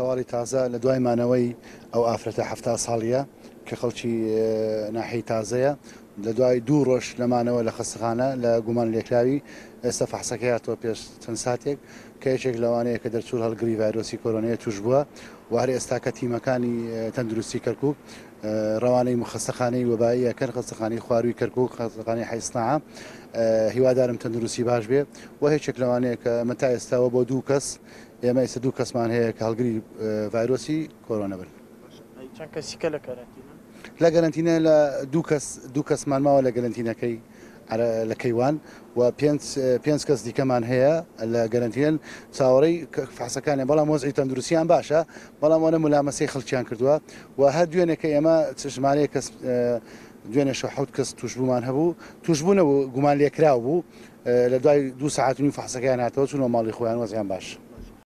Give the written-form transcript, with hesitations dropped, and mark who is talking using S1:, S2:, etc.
S1: هەواڵی تازە لە دوای مانەوەی ئەو ئافرەتە 70 ساڵیە کە خەڵکی ناحیەی تازەیە لە دوای دوو ڕۆژ لە مانەوە لە خەستەخانە لە گومان لێکراوی ئێستا فەحسەکەی هاتەوە پێش چەند ساتێک کە یەکێک لەوانەیە کە دەرچوو هەڵگری ڤایرۆسی کۆرۆنەیە توش بووە و هەر ئێستا کە تیمەکانی تەندروستی کەرکک ڕەوانەی خەستەخانەی وەبایی ئەکەن، خەستەخانەی خوارووی کەرکوک، خەستەخانەی حەی سناعە. هیوادارم تەندروستی باش بێ و هێچێک لەوانەیە کە ئەمە تا ئێستاوە بۆ دوو کەس ئێمە ئێستا دوو کەسمان هەیە کە هەڵگری ڤایرۆسی کۆرۆنا بن.
S2: چەند کەسی کە لە کەرەنتینەن؟
S1: لە گەرەنتینە لە دوو کەس دوو کەسمان ماوە لە گەرەنتینەکەی لە کەیوان و پێنج پێنج کەس دیکەمان هەیە لە گەرەنتینەن چاوەڕێی فحسەکانیان بەڵام وەزعی تەندروستیان باشە بەڵام ئەوانە ملامەسەی خەڵکیان کردووە و هەر دوێنێ کە ئێمە ژمارەیەک کەس دوێنێ شەو حەوت کەس تووشبوومان هەبوو تووشبوو نەبوو گومان لێکراو بوو لە دوای دوو سەعات و نیو فحسەکەیان هاتەوە چوونەوە ماڵی خۆیان وەزعیان باش.